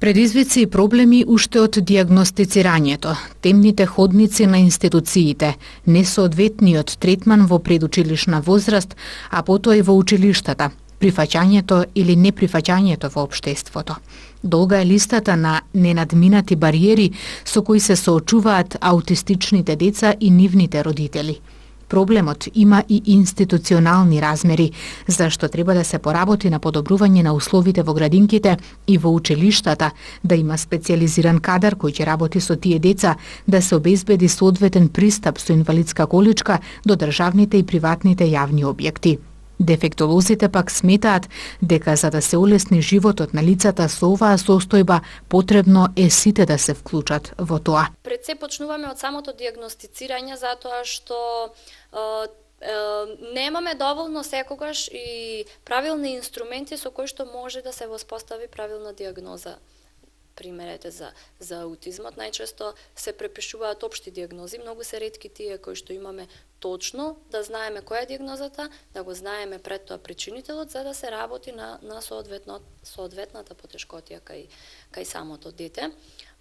Предизвици и проблеми уште од дијагностицирањето, темните ходници на институциите, несоодветниот третман во предучилишна возраст, а потоа и во училиштата, прифаќањето или неприфаќањето во општеството. Долга е листата на ненадминати бариери со кои се соочуваат аутистичните деца и нивните родители. Проблемот има и институционални размери, зашто треба да се поработи на подобрување на условите во градинките и во училиштата, да има специјализиран кадар кој ќе работи со тие деца, да се обезбеди соодветен пристап со инвалидска количка до државните и приватните јавни објекти. Дефектолозите пак сметаат дека за да се улесни животот на лицата со оваа состојба, потребно е сите да се вклучат во тоа. Пред се почнуваме од самото дијагностицирање, затоа што немаме доволно секогаш и правилни инструменти со кои што може да се воспостави правилна дијагноза. Примерете за аутизмот, најчесто се препишуваат општи дијагнози, многу се ретки тие кои што имаме точно да знаеме која е дијагнозата, да го знаеме пред тоа причинителот, за да се работи на соодветната потешкотија кај самото дете.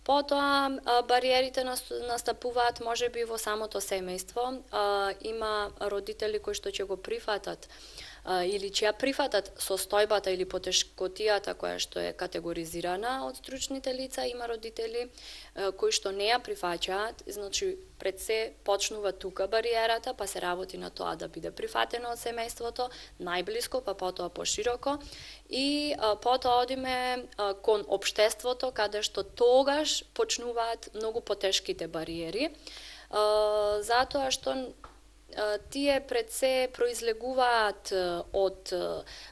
Потоа бариерите настапуваат можеби во самото семејство. Има родители кои што ќе го прифатат или ќе ја прифатат состојбата или потешкотијата која што е категоризирана од стручните лица. Има родители кои што не ја прифаќаат, значи пред се почнува тука бариерата, па се работи на тоа да биде прифатено од семејството, најблиско, па потоа пошироко. И потоа одиме кон општеството, каде што тогаш почнуваат многу потешките бариери, затоа што тие пред се произлегуваат од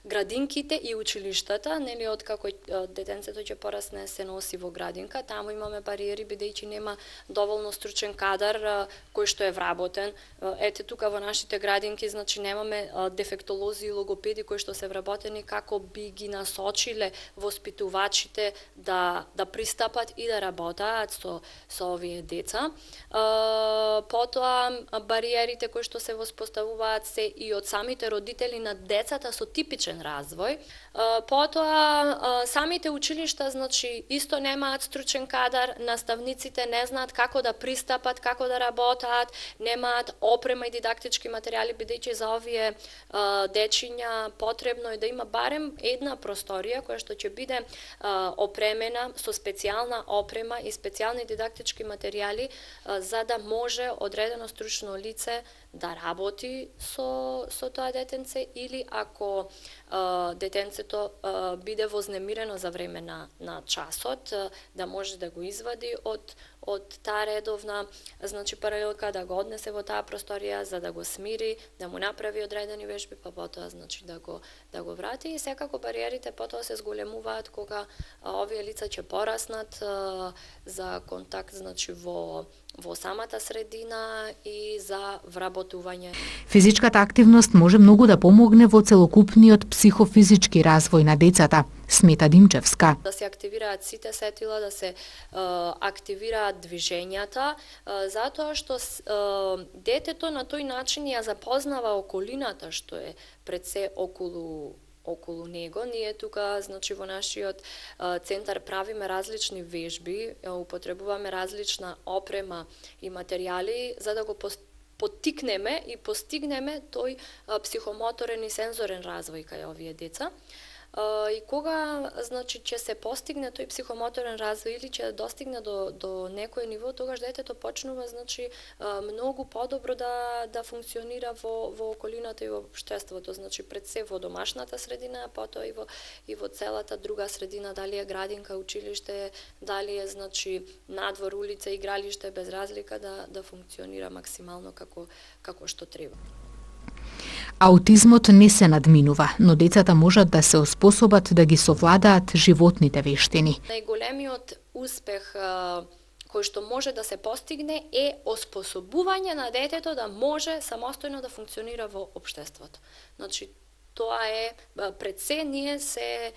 градинките и училиштата, нели од како детенцето ќе порасне се носи во градинка, таму имаме бариери бидејќи нема доволно стручен кадар кој што е вработен. Ете тука во нашите градинки, значи немаме дефектолози и логопеди кои што се вработени како би ги насочиле воспитувачите да пристапат и да работаат со овие деца. Потоа бариерите кои што се воспоставуваат се и од самите родители на децата со типичен развој. Потоа самите училишта, значи, исто немаат стручен кадар, наставниците не знаат како да пристапат, како да работаат, немаат опрема и дидактички материјали, бидејќи за овие дечиња потребно е да има барем една просторија која што ќе биде опремена со специјална опрема и специјални дидактички материјали за да може одредено стручно лице да работи со тоа детенце, или ако детенцето биде вознемирено за време на часот, да може да го извади од таа редовна, значи, паралелка, да го однесе во таа просторија за да го смири, да му направи одредени вежби, па потоа, значи, да го врати. И секако бариерите потоа се зголемуваат кога овие лица ќе пораснат за контакт, значи, во самата средина и за вработување. Физичката активност може многу да помогне во целокупниот психофизички развој на децата, смета Димчевска. Да се активираат сите сетила, да се активираат движењата, затоа што детето на тој начин ја запознава околината што е пред се околу него. Ние тука, значи, во нашиот центар правиме различни вежби, употребуваме различна опрема и материјали за да го поттикнеме и постигнеме тој психомоторен и сензорен развој кај овие деца. И кога, значи, ќе се постигне тој психомоторен развој или ќе достигне до некој ниво, тогаш детето почнува, значи, многу подобро да функционира во околината и во општеството, значи пред се во домашната средина, потоа и во целата друга средина, дали е градинка, училиште, дали е, значи, надвор, улица, игралиште, без разлика да функционира максимално како што треба. Аутизмот не се надминува, но децата можат да се оспособат да ги совладаат животните вештини. Најголемиот успех кој што може да се постигне е оспособување на детето да може самостојно да функционира во општеството. Значи, тоа е пред се, ние се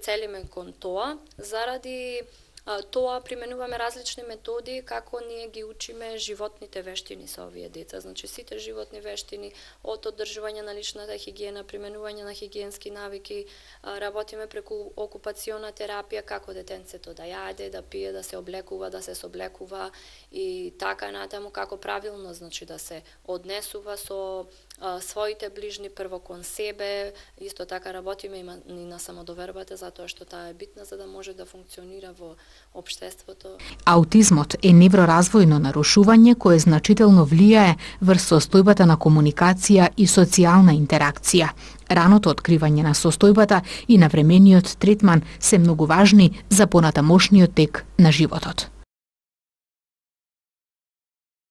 целиме кон тоа заради Тоа применуваме различни методи како ние ги учиме животните вештини со овие деца. Значи сите животни вештини, од одржување на личната хигиена, применување на хигиенски навики, работиме преку окупациона терапија, како детенцето да јаде, да пие, да се облекува, да се соблекува и така натаму како правилно, значи да се однесува со своите ближни прво кон себе. Исто така работиме и на самодовербата, затоа што таа е битна за да може да функционира во општеството. Аутизмот е невроразвојно нарушување кое значително влијае врз состојбата на комуникација и социјална интеракција. Раното откривање на состојбата и навремениот третман се многу важни за понатамошниот тек на животот.